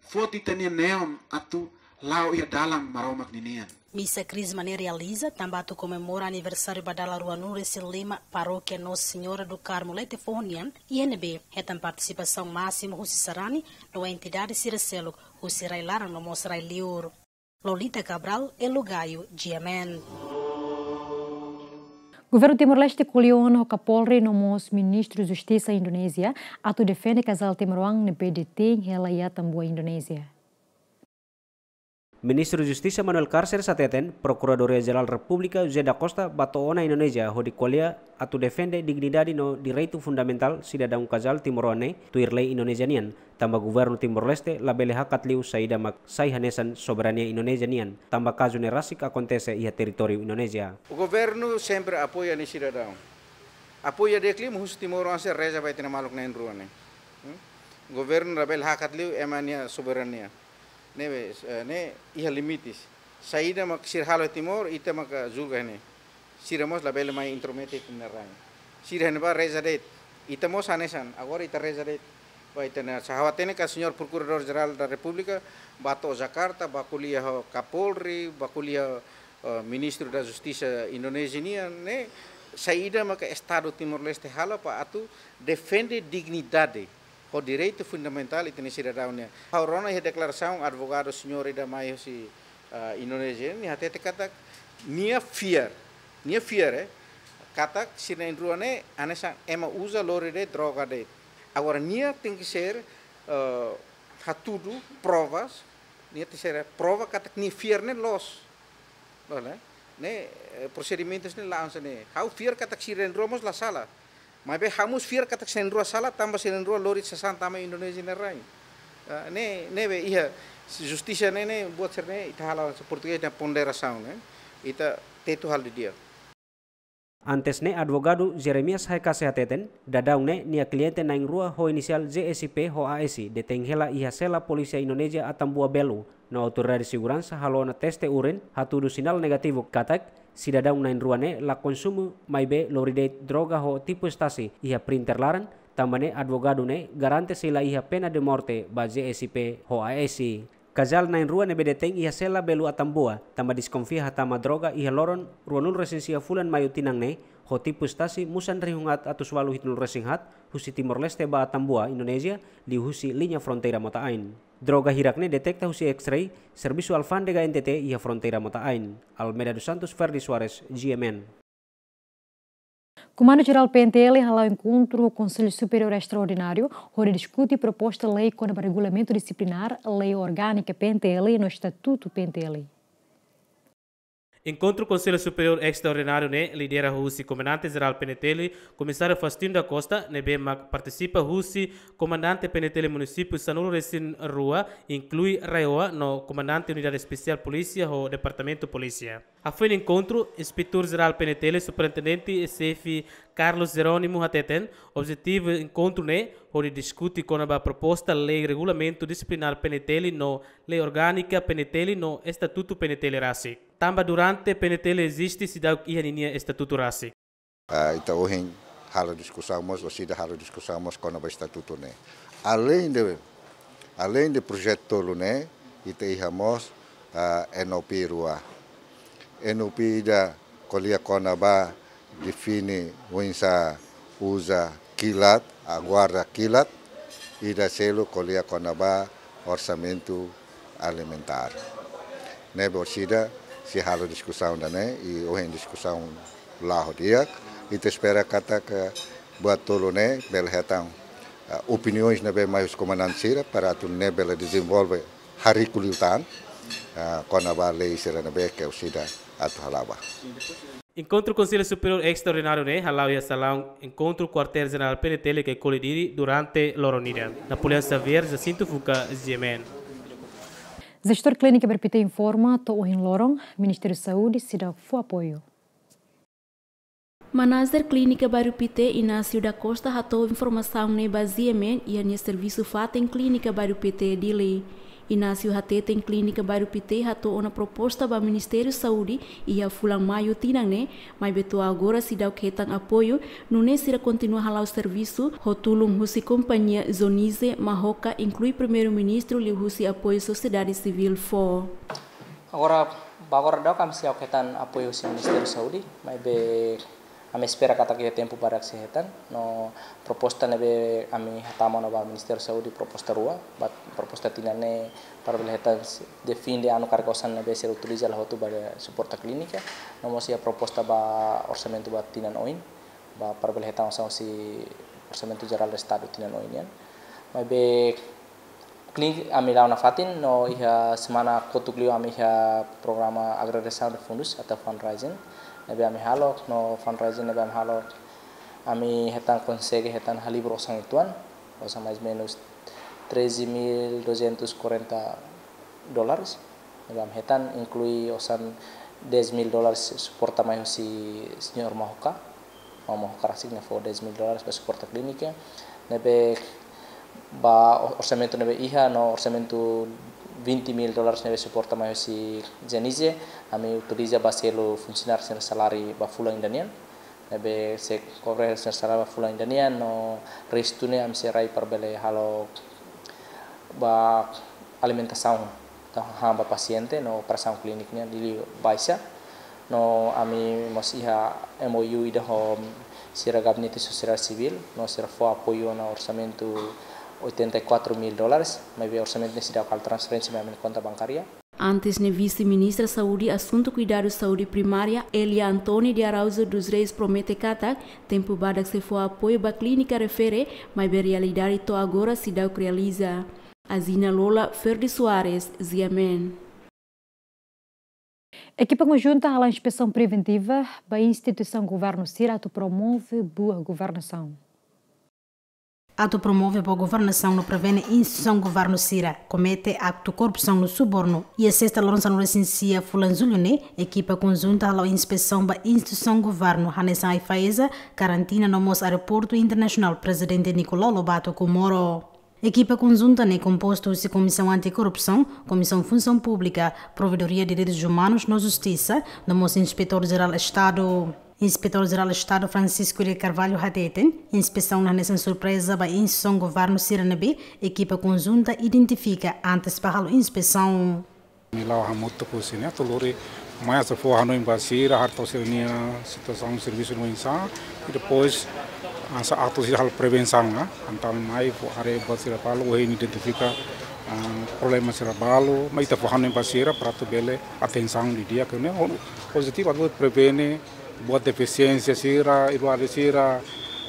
Foti ita-nia neon atu la'o iha dalan Maromak ninian. Misa Krisma ne'e realiza tanba atu komemora aniversáriu ba dala ruanulu-resin-lima Parókia Nossa Senhora do Carmo Lete Foho nian, iha ne'ebé hetan partisipasaun másimu husi sarani no entidade sira seluk husi rai-laran no mós rai-liur. Lolita Cabral, Elo Gayo, G M N. Governu Timor-Leste ko'alia ona ho Kapolri no mós Ministru Justisa Indonézia atu defende kazál timoroan ne'ebé detein hela iha Atambua, Indonézia. Ministru Justisa Manuel Carceres hateten, Prokuradoria Jerál Repúblika José da Costa bá to'o ona Indonézia hodi ko'alia atu defende dignidade no direitu fundamentál sidadaun kazál timoroan ne'e tuir lei Indonézia nian. Tanba governu Timor-Leste labele hakat liu saida mak sai hanesan soberania Indonézia nian, tanba kazu ne'e rasik akontese iha territóriu Indonézia. O governo sempre apoia nia sidadaun. Apoia di'ak liu, husu Timor-Leste reza ba ita-nia maluk na'in-rua ne'e. Hmm? Governu labele hakat liu ema nia soberania. Ne'ebé, eh, ne'e iha limites. Saida mak sira halo Timor, ita maka julga ne'e. Sira mós labele mai intromete ita-nia rai. Sira hene ba reza de'it. Ita mós hanesan, agora ita reza de'it. Ba ita-nia, ha'u hatene katak Señór Prokuradór Jerál da Repúblika bá to'o Jakarta, bá ko'alia ho Kapolri, bá ko'alia, eh, Ministru da Justisa Indonézia nian, ne'e saida maka Estadu Timor-Leste halo para atu defende dignidade ho direitu fundamentál ita-nia sidadaun nian. Ha'u rona iha deklarasaun advogadu señór ida mai husi, ah, Indonézia, nia hatete katak nia fiar, nia fiar, eh, katak sira na'in-rua ne'e hanesan ema uza lori de'it droga de'it. Agora nia tenke ser, eh, hatudu provas, nia tenke ser prova katak nia fiar ne'e loos. Loos, ne'e? Ne'e, eh, prosedimentus ne'e la'o hanesan ne'e. Ha'u fiar katak sira na'in-rua mós la sala. Maibé ha'u mós fiar katak sira na'in-rua sala, tanba sira na'in-rua lori sasán tama Indonézia nia rai. Ah, ne'e, ne'ebé iha justisa ne'e, ne'e buat sira-ne'e ita halo, se portugés dehan ponderasaun, ne'e? Ita tetu halo didi'ak. Antes ne'e advogadu Jeremias Haikase hateten, daudaun ne'e nia kliente na'in-rua ho inisiál J S P ho A S detein hela iha sela polísia Indonézia Atambua Belo, no autoridade seguransa halo ona teste urin, hatudu sinál negativu katak sidadaun na'in-rua ne'e la konsumu maibé lori de'it droga ho tipu estasi iha printer laran, tanba ne'e advogadu ne'e garante sei la iha pena de morte ba J S P ho A S. Kazál na'in-rua ne'ebé detein iha sela Belo Atambua, tanba deskonfia hatama droga iha loron ruanulu-resin-sia fulan Maiu tinan ne'e, ho tipu estasi musan rihun atus ualu hitunulu-resin-haat, husi Timor-Leste ba Atambua, Indonézia, liuhusi liña fronteira mota-ain. Droga hirak ne'e deteta husi X-ray, Servisu Alfándega N T T iha fronteira mota-ain. Almeida dos Santos, Ferdi Soares, G M N. Komandu Jerál P N T L hala'o enkontru ho Konsellu Superiór Estraordináriu, hodi diskute proposta lei kona-ba regulamentu disiplinár, lei orgánika P N T L no estatutu P N T L. Enkontru Konsellu Superiór Estraordináriu ne'e lidera husi Komandante Jerál P N T L, Komisáriu Faustino da Costa, ne'ebé mak partisipa husi Komandante P N T L Munisípiu sanulu-resin-rua, inklui RAEOA no Komandante Unidade Espesiál Polísia ho Departamentu Polísia. Hafoin enkontru, Inspetór Jerál P N T L, Superintendente Xefe Carlos Jerónimo hateten, objetivu enkontru ne'e hodi diskute kona-ba proposta lei regulamentu disiplinár P N T L no lei orgánika P N T L no estatutu P N T L rasik. Tanba durante P N T L eziste seidauk iha ninia estatutu rasik. Ah, ita ohin halo diskusaun mós, orsida halo diskusaun mós kona-ba estatutu ne'e. Aleinde, aleinde projetu tolu ne'e, ita iha mós, ah, N O P rua. N O P ida ko'alia kona-ba define oinsá uza kilat, ah, guarda kilat, ida seluk ko'alia kona-ba orsamentu alimentár. Ne'ebé orsida sei halo diskusaun ida-ne'e, i ohin diskusaun la'o di'ak, ita espera katak buat tolu ne'e bele hetan, ah, opiniões ne'ebé mai husi komandante sira para atu nune'e bele dezenvolve hariku liután, ah, kona-ba lei sira ne'ebé ke orsida atu hala'o ba. Enkontru Konsellu Superiór Estraordináriu ne'e hala'o iha salaun enkontru Kuartél Jerál P N T L ke Colidiri durante loron ida. Napoleão Xavier, Jacinto Fuca, G M N. Jestór Klínika Bairru Pité informa to'o ohin loron Ministériu Saúde seidauk fó apoiu. Manajer Klínika Bairru Pité, Inácio da Costa, hato'o informasaun ne'e ba G M N iha nia servisu fatin Klínika Bairru Pité, Dili. Inácio hateten Klínika Bairru Pité hato'o ona proposta ba Ministériu Saúde iha fulan Maiu tinan ne'e, maibé to'o agora seidauk hetan apoiu, nune'e sira kontinua hala'o servisu ho tulun husi kompañia Zonize, Mahoka, inklui Primeiru-Ministru liuhusi apoiu sosiedade sivíl fó. Agora, ba agora daudaun ami seidauk hetan apoiu husi Ministériu Saúde, maibé ami espera katak iha tempu badak sei hetan, no proposta ne'ebé ami hatama ona ba Ministériu Saúde, proposta rua, ba proposta tinan ne'e para bele hetan se-, de fin de anu karik osan ne'ebé sira utiliza la hotu ba suporta klínika, no mós iha proposta ba orsamentu ba tinan oin, ba para bele hetan osan husi Orsamentu Jerál Estadu tinan oin nian. Maibé klínika ami la'o nafatin, no iha semana kotuk liu ami iha programa agregasaun de fundus atau fundraising ne'ebé ami halo, no fundraising ne'ebé ami halo, ami hetan konsege hetan halibur osan uitoan, osan mais menus treze mil duzentos e quarenta dólares. Ne'ebé ami hetan inklui osan dez mil dólares suporta mai husi señór Mahoka. Maun Mahoka rasik ne'e fó dez mil dólares ba suporta klínika. Ne'ebé ba o-, orsamentu ne'ebé iha no orsamentu vinte mil dólares ne'ebé suporta mai husi Zonize, ami utiliza ba selu funsionáriu sira saláriu ba fulan ida nian. Ne'ebé sei kobre sira saláriu ba fulan ida nian, no restu ne'e ami sei rai para bele halo ba alimentasaun, entaun hahán ba pasiente no operasaun klínika nian liu baixa. No ami mós iha M O U ida ho sira Gabinete Sosiedade Sivíl, no sira fó apoiu ona orsamentu oitenta e quatro mil dólares, maibé orsamentu ne'e seidauk halo transferénsia mai ami-nia konta bankária. Antes ne'e, Vise-Ministra Saúde, Asuntu Kuidadu Saúde Primária, Elia António de Araújo dos Reis, promete katak tempu badak sei fó apoiu ba klínika refere, maibé realidade to'o agora seidauk realiza. Azina Lola, Ferdi Soares, G M N. Ekipa konjunta hala'o inspesaun preventiva ba instituisaun governu sira atu promove boa governasaun. Atu promove boa governasaun no prevene instituisaun governu sira komete aktu korrupsaun no subornu. Iha sesta loron sanulu-resin-sia fulan Jullu ne'e, ekipa konjunta hala'o inspesaun ba instituisaun governu hanesan AIFAESA, Karantina no mós Aeroportu Internasionál Prezidente Nicolau Lobato Comoro. Ekipa konjunta ne'e kompostu husi Komisaun Antikorrupsaun, Komisaun Funsaun Públika, Provedoria de Direitus Umanus no Justisa, no mós Inspetór Jerál Estadu. Inspetór Jerál Estadu Francisco de Carvalho hateten, inspesaun ne'e hanesan surpreza ba instituisaun governu sira ne'ebé ekipa konjunta identifika antes ba halo inspesaun. Ami la'o hamutuk ho sira-ne'e atu lori mai atu fó hanoin ba sira, haree sira-nia situasaun servisu no insa, i depois hanesan atu sira halo prevensaun, ah, entaun mai fó haree ba sira balu, ohin identifika, ah, problema sira balu, mai ita fó hanoin ba sira para atu bele atensaun didi'ak, ne'e ho-, objetivu atu prevene buat defisiénsia sira, iruade sira,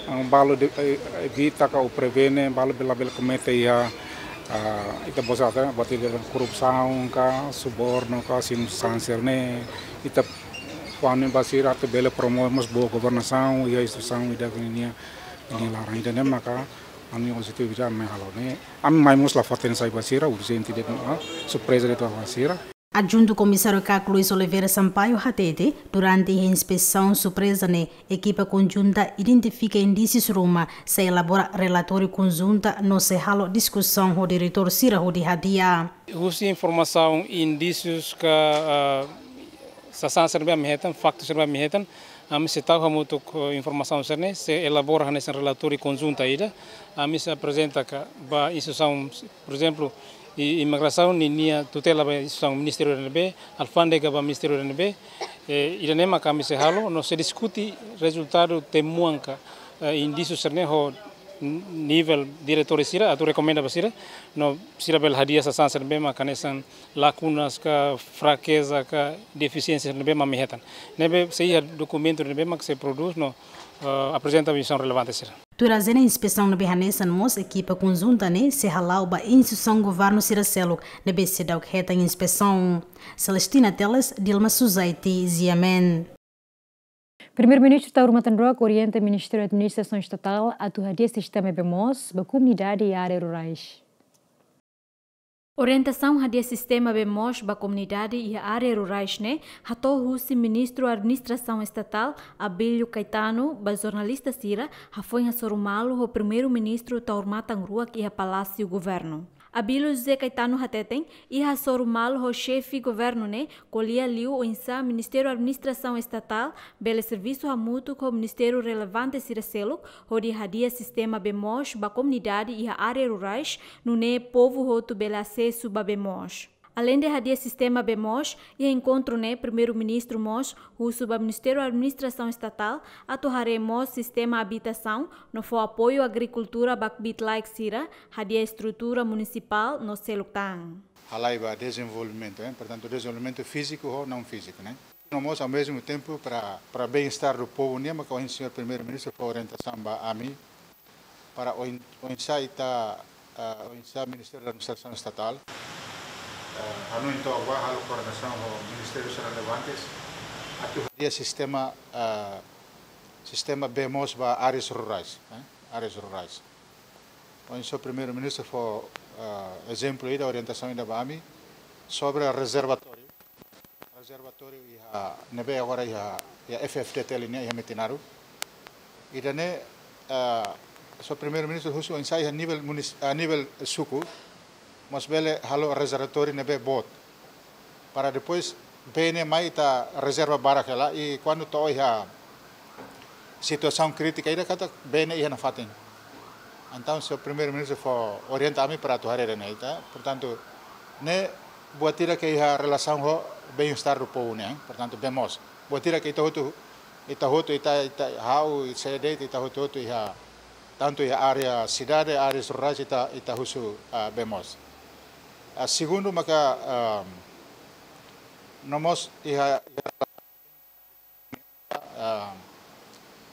ah, balu de, eh, evita ka ou prevene, balu bele, bele komete iha, ah, ita-boot sira, buat ida korrupsaun ka, subornu ka, sin sanser ne'e, ita fó hanoin ba sira atu bele promove mós boa governasaun, iha instituisaun ida-ne'e ninia, ninia laran ida-ne'e maka, ami objetivu ida mai halo ne'e, ami mai mós la fó atensaun ba sira, urjente de'it, ah, surpreza de'it ba sira. Adjuntu Komisáriu KAK Luis Oliveira Sampaio hatete, durante iha inspesaun surpreza ne'e, ekipa konjunta identifika indísius ruma, sei elabora relatóriu konjunta no sei halo diskusaun ho diretór sira hodi hadi'a. Husi informasaun, indísius ka, ah, sasán sira ne'ebé ami hetan, faktu sira ne'ebé ami hetan, ami sei tau hamutuk, eh, informasaun sira-ne'e, sei elabora hanesan relatóriu konjunta ida, ami sei aprezenta ka ba instituisaun, por ezemplu, i-, imigrasaun ninia tutela ba instituisaun ministériu ida ne'ebé, alfándega ba ministériu ida ne'ebé, eh, ida-ne'e maka ami sei halo, no sei diskute rezultadu temuan ka, eh, indísiu sira-ne'e ho n-, nivel diretór sira, atu rekomenda ba sira, no sira bele hadi'a sasán sira ne'ebé maka hanesan lakunas ka, frakeza ka, defisiénsia ne'ebé mak ami hetan. Ne'ebé sei iha dokumentu ne'ebé mak sei prodús no, eh, aprezenta ba instituisaun relevante sira. Tuir ajenda inspesaun ne'ebé hanesan mós ekipa konjunta ne'e sei hala'o ba instituisaun governu sira seluk ne'ebé seidauk hetan inspesaun. Celestina Teles, Dilma Suzaiti, G M N. Primeiru-Ministru Taur Matan Ruak orienta Ministériu Administrasaun Estatál atu hadi'a sistema B M O S ba komunidade iha área rurais. Orientasaun hadi'a sistema bee moos ba komunidade iha área rurais ne'e hato'o husi Ministru Administrasaun Estatál, Abílio Caetano, ba jornalista sira, hafoin hasoru malu ho Primeiru-Ministru Taur Matan Ruak iha Palásiu Governu. Abílio José Caetano hateten, iha hasoru malu ho xefe governu ne'e, ko'alia liu oinsá Ministériu Administrasaun Estatál bele servisu hamutuk ho ministériu relevante sira seluk, hodi hadi'a sistema bee moos ba komunidade iha área rurais, nune'e povu hotu bele asesu ba bee moos. Aleinde hadi'a sistema bee moos, iha enkontru ne'e Primeiru-Ministru mós husu ba Ministériu Administrasaun Estatál atu haree mós sistema abitasaun no fó apoiu agrikultura ba kbiit-laek sira, hadi'a estrutura munisipál no seluk tan. Halai ba dezenvolvimentu, eh? Portantu, dezenvolvimentu fíziku ho naun fíziku, ne'e? No mós, ao mesmo tempo, para, para bem-estar do povo, ne'e mak ohin señór Primeiru-Ministru fó orientasaun ba ami, para oin-, oinsá ita, ah, oinsá Ministériu Administrasaun Estatál, ah, hanoin took ba halo koordenasaun ho ministériu sira relevantes, atu hadi'a sistema, ah, sistema bee moos ba áreas rurais, eh? Áreas rurais. Ohin señór Primeiru-Ministru fó, ah, ezemplu ida, orientasaun ida ba ami, sobre rezervatóriu. Rezervatóriu iha, ne'ebé agora iha, iha F F D T L nian iha Metinaro. Ida-ne'e, ah, señór Primeiru-Ministru husu oinsá iha nivel munis-, ah, nivel suku, mós bele halo rezervatóriu ne'ebé boot. Para depois, bee ne'e mai ita rezerva barak hela, i kuandu to'o iha situasaun krítika ida katak bee ne'e iha nafatin. Entaun, señór Primeiru-Ministru fó orienta ami para atu haree ida-ne'e, ita. Portantu, ne'e buat ida ke iha relasaun ho bem-estar do povo, ne'e? Portantu, bee moos. Buat ida ke ita hotu, ita hotu, ita, ita, ha'u, sé de'it, ita hotu-hotu iha, tantu iha área sidade, áreas rurais, ita, ita husu, ah, bee moos. Ah, segundu, maka, ah, no mós iha, iha ah,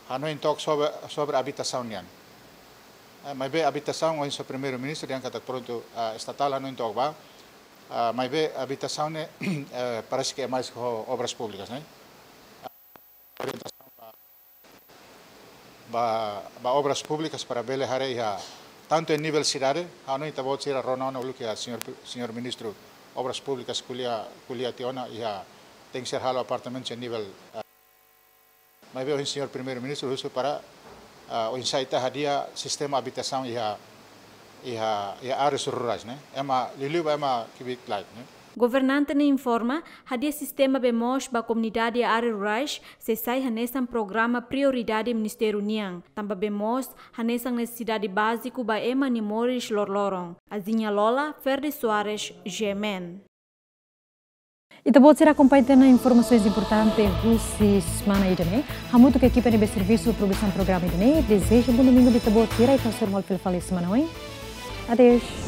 hanoin took sobre, sobre abitasaun nian. Eh, maibé abitasaun, ohin señór Primeiru-Ministru dehan katak prontu, ah, estatál hanoin took ba. Ah, maibé abitasaun ne'e, eh, parese ke é mais ho Obras Públicas, ne'e? Ah, orientasaun ba, ba, ba Obras Públicas para bele haree iha, tantu iha nivel sidade, hanoin ita-boot sira rona ona uluk iha señór, señór Ministru Obras Públicas ko'alia, ko'alia tiha ona iha tenke ser halo apartamentu iha nivel, ah, maibé ohin señór Primeiru-Ministru husu para, ah, oinsá ita hadi'a sistema abitasaun iha, iha, iha áreas rurais, ne'e? Ema liuliu ba ema kbiit-laek, ne'e? Governante ne'e informa, hadi'a sistema bee moos ba komunidade área rurais sei sai hanesan programa prioridade ministériu nian. Tanba bee moos hanesan nesesidade báziku ba ema nia moris loroloron. Azinha Lola, Ferde Soares, G M N. Ita-boot sira akompaña tiha ona informasoens importante husi semana ida-ne'e. Hamutuk ho ekipa ne'ebé servisu produsaun programa ida-ne'e, dezeja bom domingu ba ita-boot sira, i ita hasoru malu fila fali semana oin. Adeus.